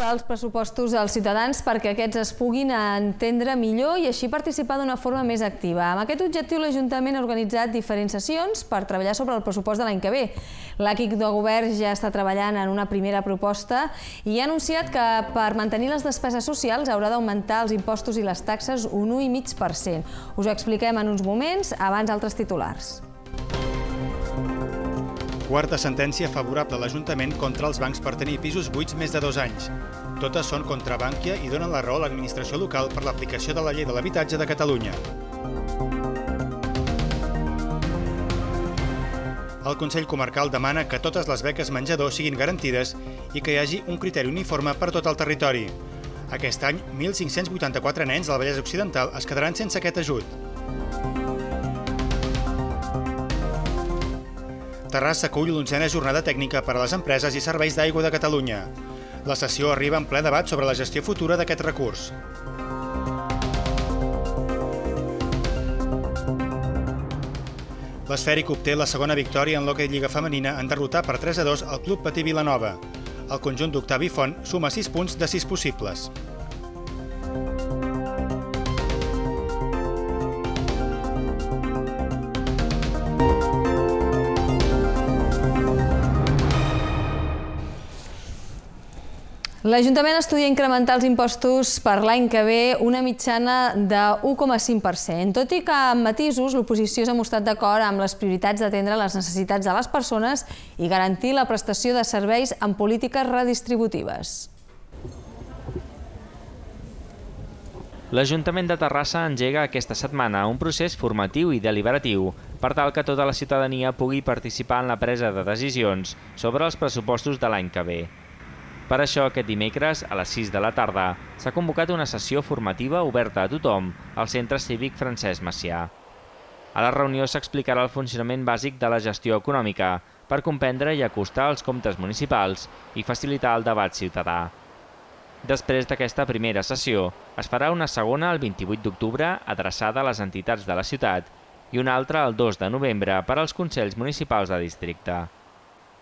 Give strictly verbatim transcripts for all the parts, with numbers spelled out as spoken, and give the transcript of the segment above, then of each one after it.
portar els pressupostos als ciutadans perquè aquests es puguin entendre millor i així participar d'una forma més activa. Amb aquest objectiu, l'Ajuntament ha organitzat diferents sessions per treballar sobre el pressupost de l'any que ve. L'equip de govern ja està treballant en una primera proposta i ha anunciat que per mantenir les despeses socials haurà d'augmentar els impostos i les taxes un u coma cinc per cent. Us ho expliquem en uns moments, abans altres titulars. Quarta sentència favorable a l'Ajuntament contra els bancs per tenir pisos buits més de dos anys. Totes són contra Bankia i donen la raó a l'administració local per l'aplicació de la Llei de l'Habitatge de Catalunya. El Consell Comarcal demana que totes les beques menjador siguin garantides i que hi hagi un criteri uniforme per tot el territori. Aquest any, mil cinc-cents vuitanta-quatre nens del Vallès Occidental es quedaran sense aquest ajut. Terrassa acull l'onzena jornada tècnica per a les empreses i serveis d'aigua de Catalunya. La sessió arriba en ple debat sobre la gestió futura d'aquest recurs. L'Esfèric obté la segona victòria en l'hoquei Lliga Femenina en derrotar per tres a dos el Club Patí Vilanova. El conjunt d'Octavi Font suma sis punts de sis possibles. L'Ajuntament estudia incrementar els impostos per l'any que ve una mitjana de u coma cinc per cent. Tot i que amb matisos, l'oposició s'ha mostrat d'acord amb les prioritats d'atendre les necessitats de les persones i garantir la prestació de serveis amb polítiques redistributives. L'Ajuntament de Terrassa engega aquesta setmana un procés formatiu i deliberatiu per tal que tota la ciutadania pugui participar en la presa de decisions sobre els pressupostos de l'any que ve. Per això, aquest dimecres, a les sis de la tarda, s'ha convocat una sessió formativa oberta a tothom al Centre Cívic Francesc Macià. A la reunió s'explicarà el funcionament bàsic de la gestió econòmica per comprendre i acostar els comptes municipals i facilitar el debat ciutadà. Després d'aquesta primera sessió, es farà una segona el vint-i-vuit d'octubre adreçada a les entitats de la ciutat i una altra el dos de novembre per als consells municipals de districte.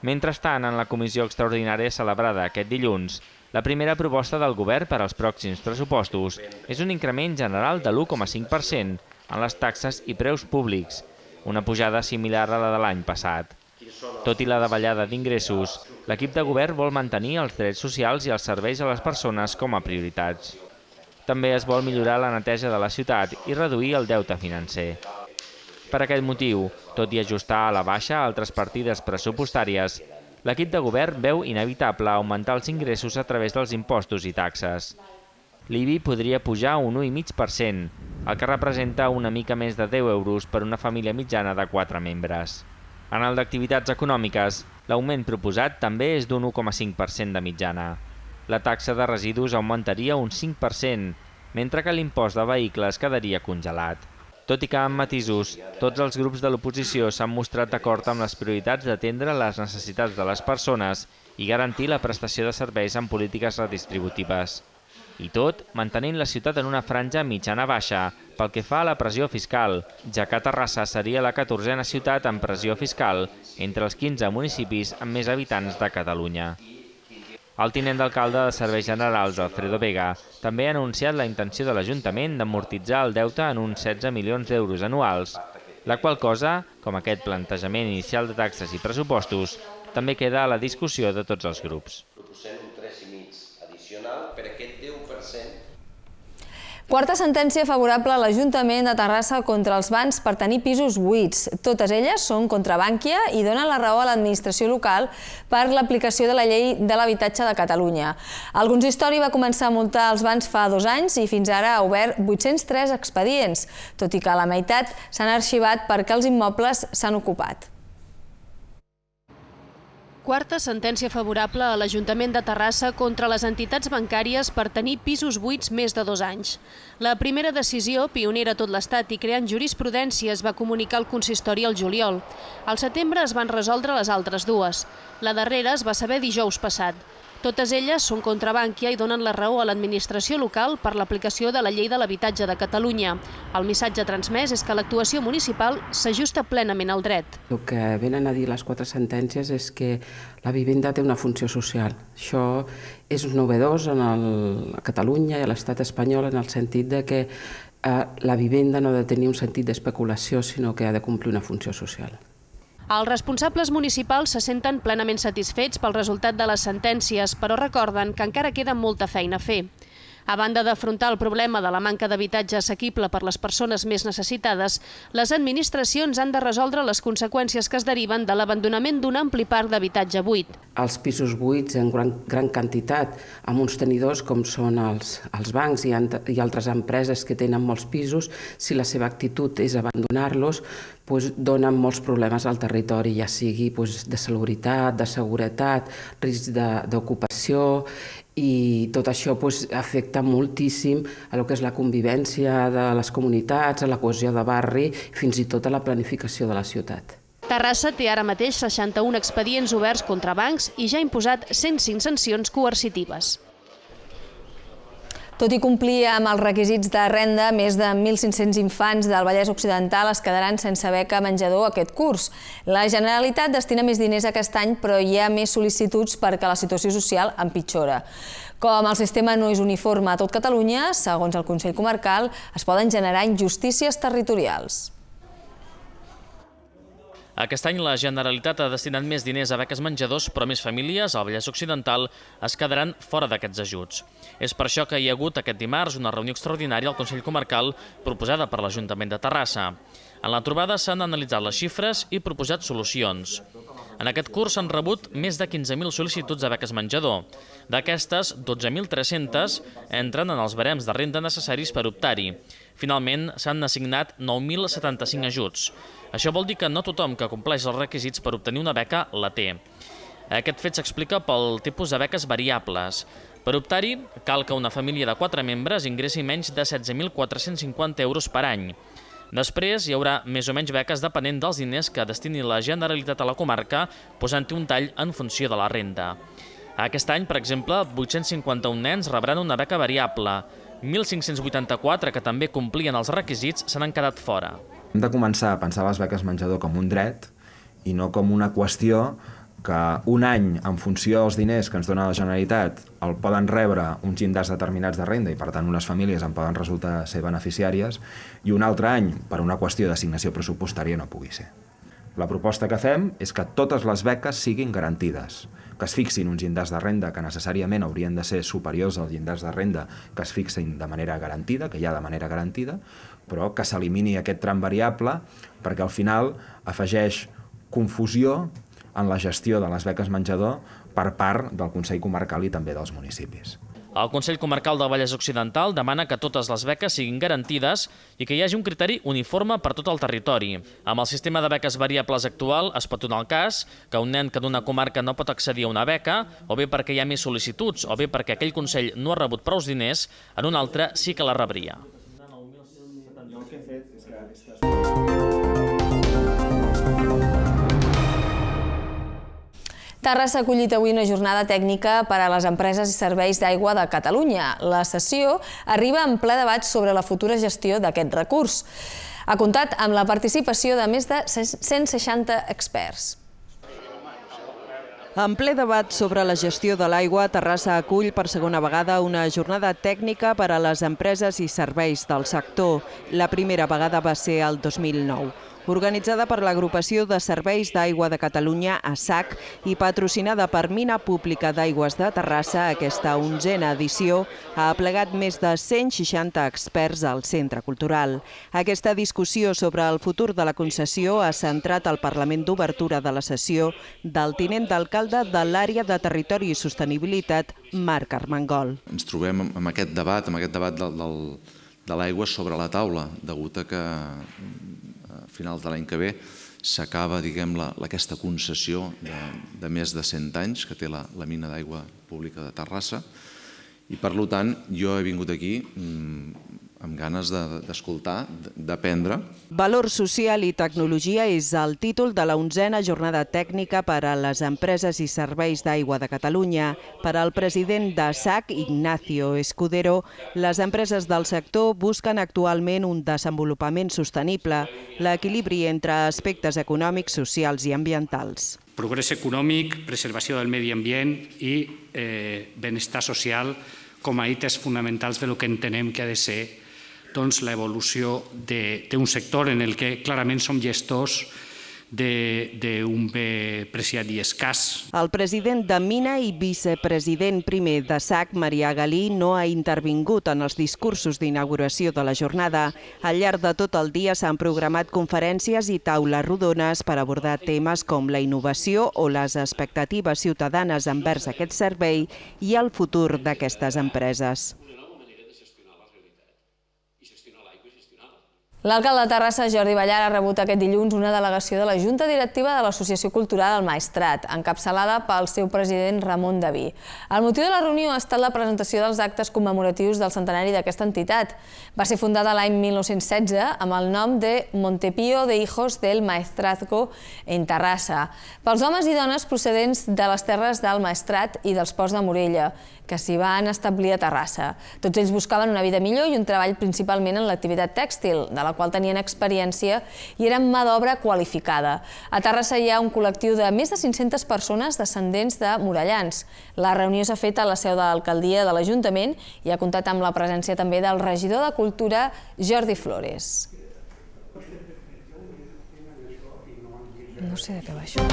Mentrestant, en la comissió extraordinària celebrada aquest dilluns, la primera proposta del govern per als pròxims pressupostos és un increment general de l'u coma cinc per cent en les taxes i preus públics, una pujada similar a la de l'any passat. Tot i la davallada d'ingressos, l'equip de govern vol mantenir els drets socials i els serveis a les persones com a prioritats. També es vol millorar la neteja de la ciutat i reduir el deute financer. Per aquest motiu, tot i ajustar a la baixa altres partides pressupostàries, l'equip de govern veu inevitable augmentar els ingressos a través dels impostos i taxes. L'I B I podria pujar un u coma cinc per cent, el que representa una mica més de deu euros per una família mitjana de quatre membres. En el d'activitats econòmiques, l'augment proposat també és d'un u coma cinc per cent de mitjana. La taxa de residus augmentaria un cinc per cent, mentre que l'impost de vehicles quedaria congelat. Tot i que amb matisos, tots els grups de l'oposició s'han mostrat d'acord amb les prioritats d'atendre les necessitats de les persones i garantir la prestació de serveis amb polítiques redistributives. I tot mantenint la ciutat en una franja mitjana-baixa pel que fa a la pressió fiscal, ja que Terrassa seria la catorzena ciutat amb pressió fiscal entre els quinze municipis amb més habitants de Catalunya. El tinent d'alcalde de Serveis Generals, Alfredo Vega, també ha anunciat la intenció de l'Ajuntament d'amortitzar el deute en uns setze milions d'euros anuals, la qual cosa, com aquest plantejament inicial de taxes i pressupostos, també queda a la discussió de tots els grups. Proposem un tres coma cinc addicional per aquest deu per cent. Quarta sentència favorable a l'Ajuntament de Terrassa contra els bancs per tenir pisos buits. Totes elles són contra Bankia i donen la raó a l'administració local per l'aplicació de la Llei de l'Habitatge de Catalunya. El consistori va començar a multar els bancs fa dos anys i fins ara ha obert vuit-cents tres expedients, tot i que la meitat s'han arxivat perquè els immobles s'han ocupat. Quarta sentència favorable a l'Ajuntament de Terrassa contra les entitats bancàries per tenir pisos buits més de dos anys. La primera decisió, pionera a tot l'Estat i creant jurisprudència, es va comunicar al consistori al juliol. Al setembre es van resoldre les altres dues. La darrera es va saber dijous passat. Totes elles són contra Bankia i donen la raó a l'administració local per l'aplicació de la Llei de l'Habitatge de Catalunya. El missatge transmès és que l'actuació municipal s'ajusta plenament al dret. El que venen a dir les quatre sentències és que la vivenda té una funció social. Això és novedós en el, a Catalunya i a l'estat espanyol en el sentit de que eh, la vivenda no ha de tenir un sentit d'especulació, sinó que ha de complir una funció social. Els responsables municipals se senten plenament satisfets pel resultat de les sentències, però recorden que encara queda molta feina a fer. A banda d'afrontar el problema de la manca d'habitatge assequible per les persones més necessitades, les administracions han de resoldre les conseqüències que es deriven de l'abandonament d'un ampli parc d'habitatge buit. Els pisos buits en gran, gran quantitat, amb uns tenidors com són els, els bancs i, i altres empreses que tenen molts pisos, si la seva actitud és abandonar-los, doncs donen molts problemes al territori, ja sigui doncs, de salubritat, de seguretat, risc d'ocupació, i tot això doncs, afecta moltíssim a lo que és la convivència de les comunitats, a la cohesió de barri, fins i tot a la planificació de la ciutat. Terrassa té ara mateix seixanta-un expedients oberts contra bancs i ja ha imposat cent cinc sancions coercitives. Tot i complir amb els requisits de renda, més de mil cinc-cents infants del Vallès Occidental es quedaran sense beca menjador aquest curs. La Generalitat destina més diners aquest any, però hi ha més sol·licituds perquè la situació social empitjora. Com el sistema no és uniforme a tot Catalunya, segons el Consell Comarcal, es poden generar injustícies territorials. Aquest any la Generalitat ha destinat més diners a beques menjadors, però més famílies al Vallès Occidental es quedaran fora d'aquests ajuts. És per això que hi ha hagut aquest dimarts una reunió extraordinària al Consell Comarcal proposada per l'Ajuntament de Terrassa. En la trobada s'han analitzat les xifres i proposat solucions. En aquest curs s'han rebut més de quinze mil sol·licituds de beques menjador. D'aquestes, dotze mil tres-centes entren en els barems de renda necessaris per optar-hi. Finalment, s'han assignat nou mil setanta-cinc ajuts. Això vol dir que no tothom que compleix els requisits per obtenir una beca la té. Aquest fet s'explica pel tipus de beques variables. Per optar-hi, cal que una família de quatre membres ingressi menys de setze mil quatre-cents cinquanta euros per any. Després hi haurà més o menys beques depenent dels diners que destini la Generalitat a la comarca, posant-hi un tall en funció de la renda. Aquest any, per exemple, vuit-cents cinquanta-un nens rebran una beca variable. mil cinc-cents vuitanta-quatre, que també complien els requisits, se n'han quedat fora. Hem de començar a pensar les beques menjador com un dret i no com una qüestió que un any, en funció dels diners que ens dona la Generalitat, el poden rebre uns llindars determinats de renda i, per tant, unes famílies en poden resultar ser beneficiàries, i un altre any, per una qüestió d'assignació pressupostària, no pugui ser. La proposta que fem és que totes les beques siguin garantides, que es fixin uns llindars de renda que necessàriament haurien de ser superiors als llindars de renda que es fixin de manera garantida, que hi ha de manera garantida, però que s'elimini aquest tram variable perquè al final afegeix confusió en la gestió de les beques menjador per part del Consell Comarcal i també dels municipis. El Consell Comarcal del Vallès Occidental demana que totes les beques siguin garantides i que hi hagi un criteri uniforme per tot el territori. Amb el sistema de beques variables actual es pot donar el cas que un nen que d'una comarca no pot accedir a una beca, o bé perquè hi ha més sol·licituds, o bé perquè aquell Consell no ha rebut prou diners, en un altre sí que la rebria. Terrassa ha acollit avui una jornada tècnica per a les empreses i serveis d'aigua de Catalunya. La sessió arriba en ple debat sobre la futura gestió d'aquest recurs. Ha comptat amb la participació de més de cent seixanta experts. En ple debat sobre la gestió de l'aigua, Terrassa acull per segona vegada una jornada tècnica per a les empreses i serveis del sector. La primera vegada va ser el dos mil nou. Organitzada per l'Agrupació de Serveis d'Aigua de Catalunya, A S A C, i patrocinada per Mina Pública d'Aigües de Terrassa, aquesta onzena edició ha aplegat més de cent seixanta experts al Centre Cultural. Aquesta discussió sobre el futur de la concessió ha centrat el Parlament d'Obertura de la sessió del tinent d'alcalde de l'àrea de Territori i Sostenibilitat, Marc Armengol. Ens trobem amb aquest debat, amb aquest debat del, del, de l'aigua sobre la taula, degut a que a finals de l'any que ve s'acaba, diguem, la, aquesta concessió de, de més de cent anys que té la, la mina d'aigua pública de Terrassa, i per tant jo he vingut aquí amb ganes d'escoltar, d'aprendre. Valor social i tecnologia és el títol de la onzena jornada tècnica per a les empreses i serveis d'aigua de Catalunya. Per al president de S A C, Ignacio Escudero, les empreses del sector busquen actualment un desenvolupament sostenible, l'equilibri entre aspectes econòmics, socials i ambientals. Progrés econòmic, preservació del medi ambient i benestar social com a eites fonamentals del que entenem que ha de ser l'evolució d'un sector en el que clarament som gestors d'un bé preciat i escàs. El president de Mina i vicepresident primer de S A C, Marià Galí, no ha intervingut en els discursos d'inauguració de la jornada. Al llarg de tot el dia s'han programat conferències i taules rodones per abordar temes com la innovació o les expectatives ciutadanes envers aquest servei i el futur d'aquestes empreses. L'alcalde de Terrassa, Jordi Ballar, ha rebut aquest dilluns una delegació de la Junta Directiva de l'Associació Cultural El Maestrat, encapçalada pel seu president Ramon Daví. El motiu de la reunió ha estat la presentació dels actes commemoratius del centenari d'aquesta entitat. Va ser fundada l'any mil nou-cents setze amb el nom de Montepío de Hijos del Maestrazgo en Terrassa, pels homes i dones procedents de les terres del Maestrat i dels Ports de Morella, que s'hi van establir a Terrassa. Tots ells buscaven una vida millor i un treball principalment en l'activitat tèxtil, de la qual tenien experiència i eren mà d'obra qualificada. A Terrassa hi ha un col·lectiu de més de cinc-centes persones descendents de morellans. La reunió s'ha fet a la seu de l'alcaldia de l'Ajuntament i ha comptat amb la presència també del regidor de Cultura, Jordi Flores. No sé de què va això.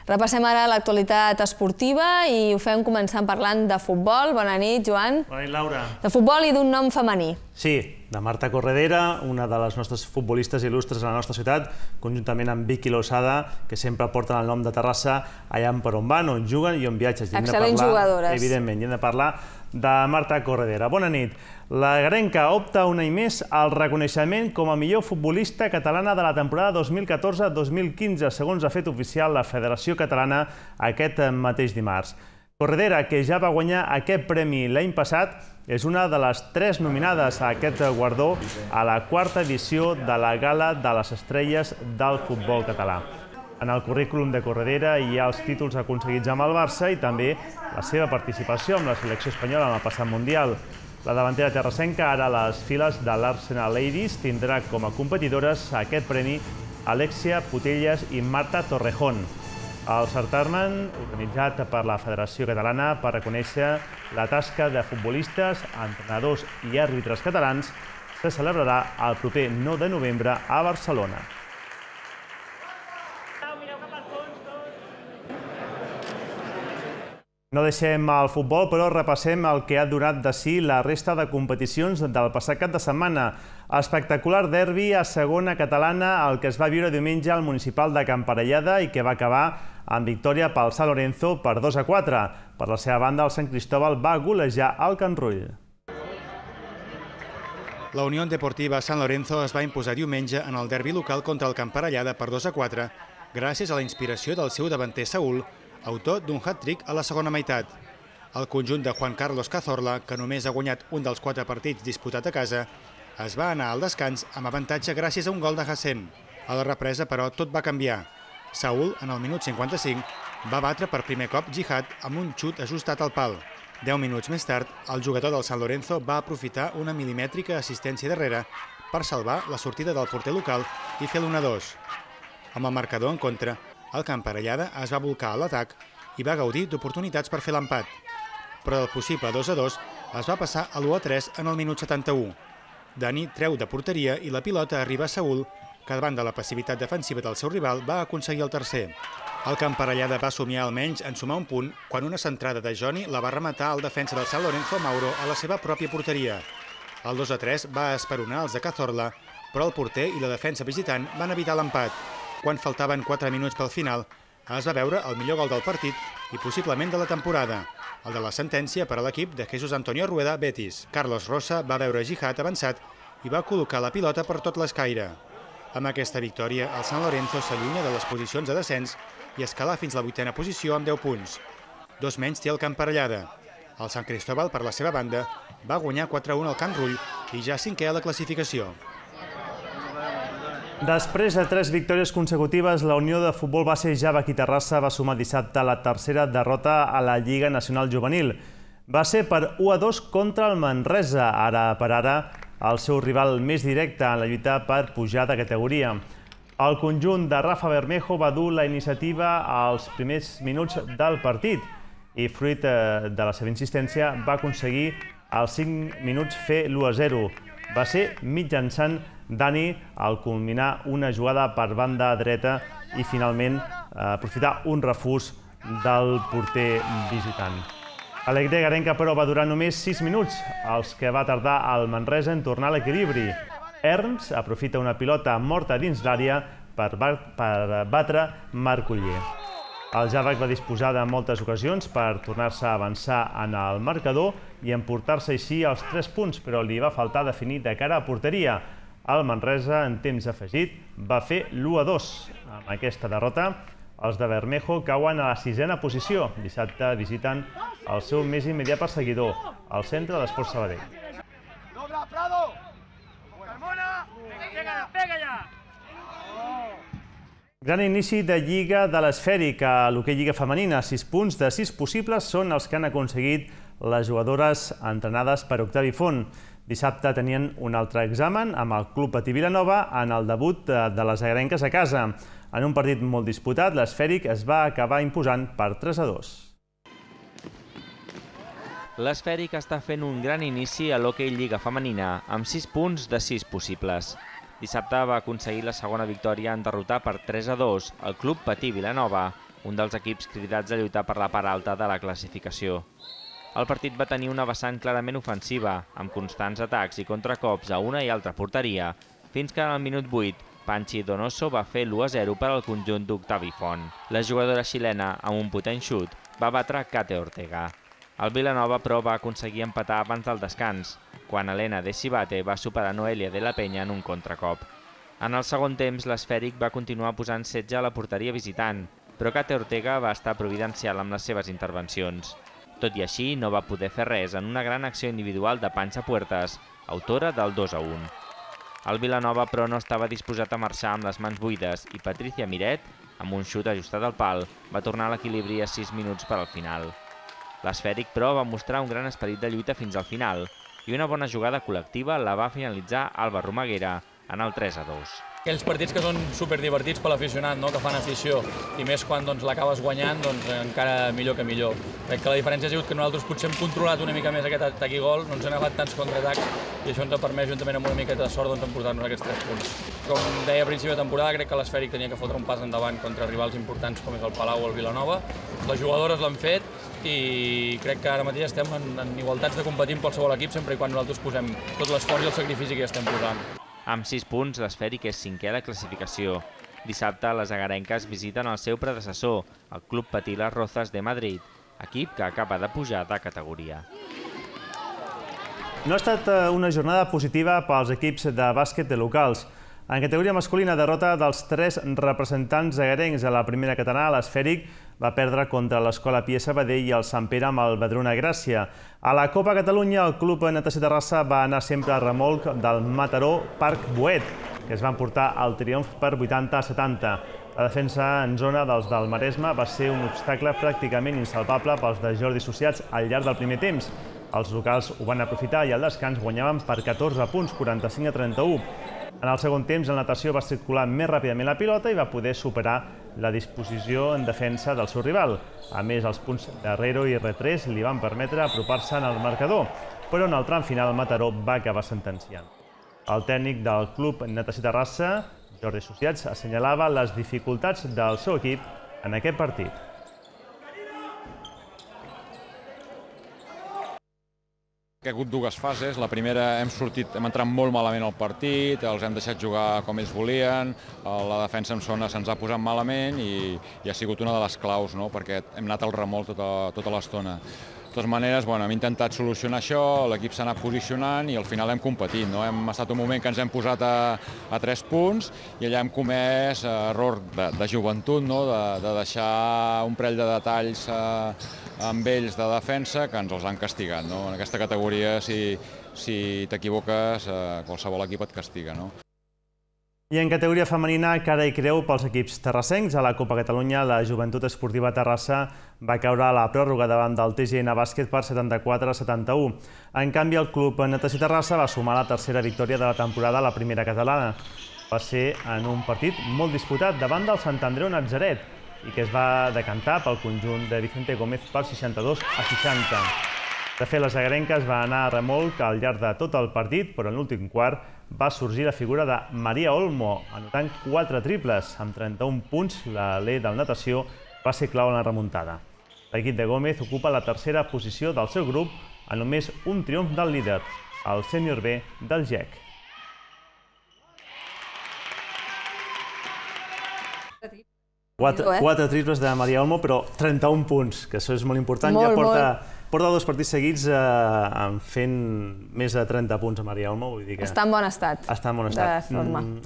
Repassem ara l'actualitat esportiva i ho fem començant parlant de futbol. Bona nit, Joan. Bona nit, Laura. De futbol i d'un nom femení. Sí, de Marta Corredera, una de les nostres futbolistes il·lustres a la nostra ciutat, conjuntament amb Vicky Losada, que sempre porten el nom de Terrassa allà per on van, on juguen i on viatges. Excel·lents jugadores. Evidentment, i hem de parlar de Marta Corredera. Bona nit. La garenca opta un any més al reconeixement com a millor futbolista catalana de la temporada dos mil catorze dos mil quinze, segons ha fet oficial la Federació Catalana aquest mateix dimarts. Corredera, que ja va guanyar aquest premi l'any passat, és una de les tres nominades a aquest guardó a la quarta edició de la Gala de les Estrelles del futbol català. En el currículum de Corredera hi ha els títols aconseguits amb el Barça i també la seva participació amb la selecció espanyola en el passat Mundial. La davantera terrassenca, ara a les files de l'Arsenal Ladies, tindrà com a competidores a aquest premi Alexia Putellas i Marta Torrejón. El certamen, organitzat per la Federació Catalana per reconèixer la tasca de futbolistes, entrenadors i àrbitres catalans, se celebrarà el proper nou de novembre a Barcelona. No deixem el futbol, però repassem el que ha donat de si la resta de competicions del passat cap de setmana. Espectacular derbi a segona catalana, el que es va viure diumenge al municipal de Camparellada i que va acabar amb victòria pel Sant Lorenzo per dos a quatre. Per la seva banda, el Sant Cristóbal va golejar el Can Rull. La Unió Deportiva Sant Lorenzo es va imposar diumenge en el derbi local contra el Camparellada per dos a quatre, gràcies a la inspiració del seu davanter Saúl, autor d'un hat-trick a la segona meitat. El conjunt de Juan Carlos Cazorla, que només ha guanyat un dels quatre partits disputat a casa, es va anar al descans amb avantatge gràcies a un gol de Hassem. A la represa, però, tot va canviar. Saúl, en el minut cinquanta-cinc, va batre per primer cop Jihad amb un xut ajustat al pal. Deu minuts més tard, el jugador del San Lorenzo va aprofitar una milimètrica assistència darrere per salvar la sortida del porter local i fer l'u a dos. Amb el marcador en contra, el Camparellada es va bolcar a l'atac i va gaudir d'oportunitats per fer l'empat. Però del possible dos a dos es va passar a l'u a tres en el minut setanta-u. Dani treu de porteria i la pilota arriba a Saúl, que davant de la passivitat defensiva del seu rival va aconseguir el tercer. El Camparellada va somiar almenys en sumar un punt quan una centrada de Joni la va rematar al defensa del Sant Lorenzo Mauro a la seva pròpia porteria. El dos a tres va esperonar els de Cazorla, però el porter i la defensa visitant van evitar l'empat. Quan faltaven quatre minuts pel final, es va veure el millor gol del partit i possiblement de la temporada, el de la sentència per a l'equip de Jesús Antonio Rueda Betis. Carlos Rosa va veure Jihad avançat i va col·locar la pilota per tot l'escaire. Amb aquesta victòria, el Sant Lorenzo s'allunya de les posicions de descens i escala fins a la vuitena posició amb deu punts. dos menys té el Camp Parellada. El Sant Cristóbal, per la seva banda, va guanyar quatre a un al Camp Rull i ja cinquè a la classificació. Després de tres victòries consecutives, la Unió de Futbol Base Javac i Terrassa va sumar dissabte la tercera derrota a la Lliga Nacional Juvenil. Va ser per u a dos contra el Manresa, ara per ara el seu rival més directe en la lluita per pujar de categoria. El conjunt de Rafa Bermejo va dur la iniciativa als primers minuts del partit i, fruit de la seva insistència, va aconseguir als cinc minuts fer l'u a zero. Va ser mitjançant Dani al culminar una jugada per banda dreta i finalment aprofitar un refús del porter visitant. Alegria Garenca, però, va durar només sis minuts, els que va tardar el Manresa en tornar a l'equilibri. Erms aprofita una pilota morta dins l'àrea per batre Marc Oller. El Javac va disposar de moltes ocasions per tornar-se a avançar en el marcador i emportar-se així els tres punts, però li va faltar definir de cara a porteria. El Manresa, en temps afegit, va fer l'u a dos. Amb aquesta derrota, els de Bermejo cauen a la sisena posició. Dissabte visiten el seu més immediat perseguidor, el Centre d'Esports Sabadell. Gran inici de Lliga de l'Esfèric a l'hoquei Lliga Femenina. Sis punts de sis possibles són els que han aconseguit les jugadores entrenades per Octavi Font. Dissabte tenien un altre examen amb el Club Patí Vilanova en el debut de les agrenques a casa. En un partit molt disputat, l'Esfèric es va acabar imposant per tres a dos. L'Esfèric està fent un gran inici a l'hoquei Lliga Femenina, amb sis punts de sis possibles. Dissabte va aconseguir la segona victòria en derrotar per tres a dos el Club Patí Vilanova, un dels equips cridats a lluitar per la part alta de la classificació. El partit va tenir una vessant clarament ofensiva, amb constants atacs i contracops a una i altra porteria, fins que en el minut vuit, Panchi Donoso va fer l'u a zero per al conjunt d'Octavi Font. La jugadora xilena, amb un potent xut, va batre Kate Ortega. El Vilanova, però, va aconseguir empatar abans del descans, quan Elena de Cibate va superar Noelia de la Penya en un contracop. En el segon temps, l'Esfèric va continuar posant setge a la porteria visitant, però Kate Ortega va estar providencial amb les seves intervencions. Tot i així, no va poder fer res en una gran acció individual de Pancha Puertas, autora del dos a un. El Vilanova, però, no estava disposat a marxar amb les mans buides i Patricia Miret, amb un xut ajustat al pal, va tornar a l'equilibri a sis minuts per al final. L'Esfèric, però, va mostrar un gran esperit de lluita fins al final i una bona jugada col·lectiva la va finalitzar Alba Romaguera en el tres a dos. Aquells partits que són superdivertits per l'aficionat, no? Que fan afició, i més quan doncs, l'acabes guanyant, doncs, encara millor que millor. Crec que la diferència ha sigut que nosaltres potser hem controlat una mica més aquest atac i gol, no ens han agafat tants contraatacs i això ens ha permès, juntament amb una mica de sort, doncs, emportar-nos aquests tres punts. Com deia a principi de temporada, crec que l'Esfèric tenia que fotre un pas endavant contra rivals importants com és el Palau o el Vilanova. Les jugadores l'han fet i crec que ara mateix estem en, en igualtats de competir amb qualsevol equip sempre i quan nosaltres posem tot l'esforç i el sacrifici que ja estem posant. Amb sis punts, l'Esfèric és cinquè a la classificació. Dissabte, les agarenques visiten el seu predecessor, el Club Patí Las Rozas de Madrid, equip que acaba de pujar de categoria. No ha estat una jornada positiva pels equips de bàsquet de locals. En categoria masculina, derrota dels tres representants agarencs a la primera catalana, l'Esfèric va perdre contra l'Escola Pia Sabadell i el Sant Pere amb el Vedruna Gràcia. A la Copa Catalunya, el Club Natació Terrassa va anar sempre a remolc del Mataró Parc Boet, que es van portar el triomf per vuitanta a setanta. La defensa en zona dels del Maresme va ser un obstacle pràcticament insalvable pels de Jordi Associats al llarg del primer temps. Els locals ho van aprofitar i al descans guanyaven per catorze punts, quaranta-cinc a trenta-u. En el segon temps, el Natació va circular més ràpidament la pilota i va poder superar la disposició en defensa del seu rival. A més, els punts d'Herrero i Retrés li van permetre apropar-se en el marcador, però en el tram final Mataró va acabar sentenciant. El tècnic del Club Natació Terrassa, Jordi Associats, assenyalava les dificultats del seu equip en aquest partit. Ha hagut dues fases. La primera hem sortit, hem entrat molt malament al partit, els hem deixat jugar com ells volien, la defensa en zona se'ns ha posat malament i, i ha sigut una de les claus, no? Perquè hem anat al remolc tota, tota l'estona. De totes maneres, hem intentat solucionar això, l'equip s'ha anat posicionant i al final hem competit. Hem estat un moment que ens hem posat a tres punts i allà hem comès error de joventut, de deixar un parell de detalls amb ells de defensa que ens els han castigat. En aquesta categoria, si t'equivoques, qualsevol equip et castiga. I en categoria femenina, cara i creu pels equips terrassencs. A la Copa Catalunya, la Joventut Esportiva Terrassa va caure a la pròrroga davant del T G N Bàsquet per setanta-quatre a setanta-u. En canvi, el Club Natació Terrassa va sumar la tercera victòria de la temporada a la primera catalana. Va ser en un partit molt disputat davant del Sant Andreu Natzaret i que es va decantar pel conjunt de Vicente Gómez per seixanta-dos a seixanta. De fet, les agarenques van anar a remolc al llarg de tot el partit, però en l'últim quart va sorgir la figura de Maria Olmo, anotant quatre triples. Amb trenta-un punts, l'alè del natació va ser clau en la remuntada. L'equip de Gómez ocupa la tercera posició del seu grup a només un triomf del líder, el sènior B del G E C. Quatre triples de Maria Olmo, però trenta-un punts, que això és molt important. Ja porta dos partits seguits fent més de trenta punts a Maria Olmo. Està en bon estat. Està en bon estat.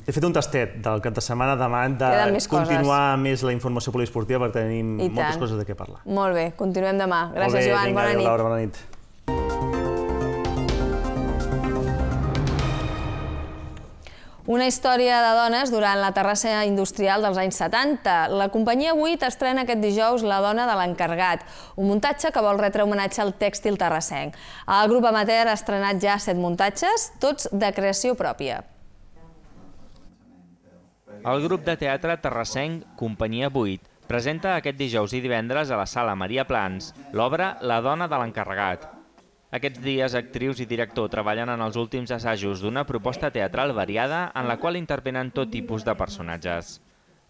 He fet un tastet del cap de setmana demà de continuar més la informació poliesportiva perquè tenim moltes coses de què parlar. Molt bé, continuem demà. Gràcies, Joan. Bona nit. Laura, bona nit. Una història de dones durant la Terrassa industrial dels anys setanta. La companyia vuit estrena aquest dijous La dona de l'encarregat, un muntatge que vol retre homenatge al tèxtil terrassenc. El grup amateur ha estrenat ja set muntatges, tots de creació pròpia. El grup de teatre terrassenc Companyia vuit presenta aquest dijous i divendres a la Sala Maria Plans l'obra La dona de l'encarregat. Aquests dies, actrius i director treballen en els últims assajos d'una proposta teatral variada en la qual intervenen tot tipus de personatges.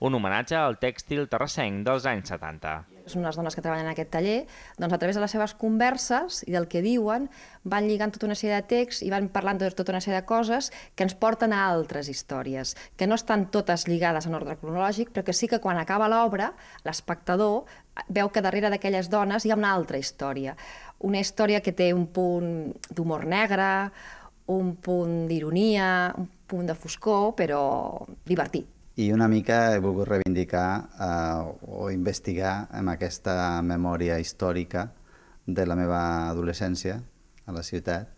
Un homenatge al tèxtil terrassenc dels anys setanta. Són unes dones que treballen en aquest taller, doncs a través de les seves converses i del que diuen van lligant tota una sèrie de texts i van parlant de tota una sèrie de coses que ens porten a altres històries, que no estan totes lligades en ordre cronològic, però que sí que quan acaba l'obra, l'espectador veu que darrere d'aquelles dones hi ha una altra història. Una història que té un punt d'humor negre, un punt d'ironia, un punt de foscor, però divertit. I una mica he volgut reivindicar o investigar amb aquesta memòria històrica de la meva adolescència a la ciutat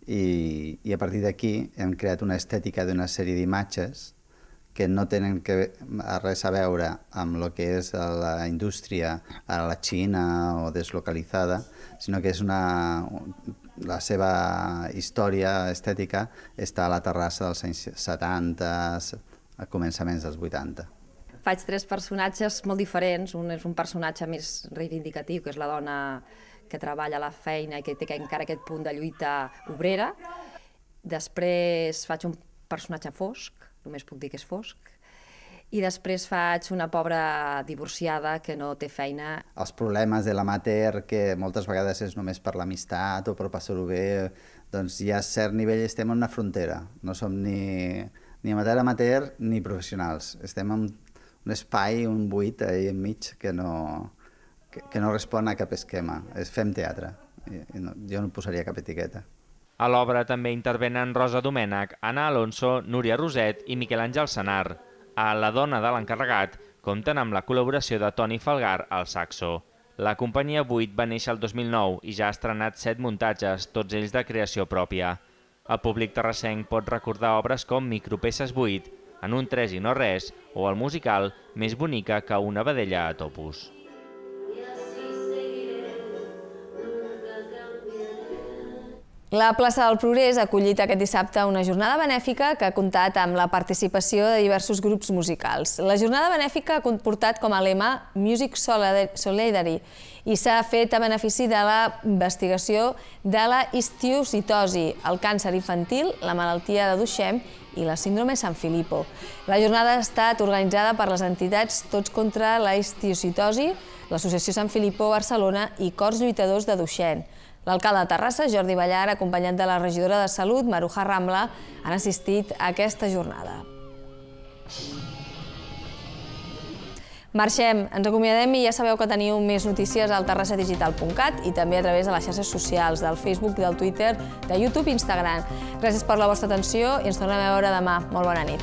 i a partir d'aquí hem creat una estètica d'una sèrie d'imatges que no tenen res a veure amb el que és la indústria a la Xina o deslocalitzada, sinó que és una... la seva història estètica està a la Terrassa dels anys setanta, a començaments dels vuitanta. Faig tres personatges molt diferents. Un és un personatge més reivindicatiu, que és la dona que treballa a la feina i que té encara aquest punt de lluita obrera. Després faig un personatge fosc, només puc dir que és fosc, i després faig una pobra divorciada que no té feina. Els problemes de l'amateur, que moltes vegades és només per l'amistat o per passar-ho bé, doncs ja a cert nivell estem en una frontera. No som ni, ni amateur amateur ni professionals. Estem en un espai, un buit ahí enmig que no, que, que no respon a cap esquema. És fem teatre. I, i no, jo no posaria cap etiqueta. A l'obra també intervenen Rosa Domènech, Anna Alonso, Núria Roset i Miquel Àngel Senar. A La dona de l'encarregat compten amb la col·laboració de Toni Falgar al saxo. La companyia vuit va néixer el dos mil nou i ja ha estrenat set muntatges, tots ells de creació pròpia. El públic terrassenc pot recordar obres com Micropeces vuit, En un tres i no res o el musical Més bonica que una vedella a Topus. La plaça del Progrés ha acollit aquest dissabte una jornada benèfica que ha comptat amb la participació de diversos grups musicals. La jornada benèfica ha comportat com a lema Music Solidarity i s'ha fet a benefici de la investigació de la histiocytosi, el càncer infantil, la malaltia de Duchenne i la síndrome San Filippo. La jornada ha estat organitzada per les entitats Tots contra la histiocytosi, l'Associació San Filippo Barcelona i Cors Lluitadors de Duchenne. L'alcalde de Terrassa, Jordi Ballar, acompanyat de la regidora de Salut, Maruja Rambla, han assistit a aquesta jornada. Marxem, ens acomiadem i ja sabeu que teniu més notícies al terrassa digital punt cat i també a través de les xarxes socials, del Facebook, del Twitter, de YouTube i Instagram. Gràcies per la vostra atenció i ens tornem a veure demà. Molt bona nit.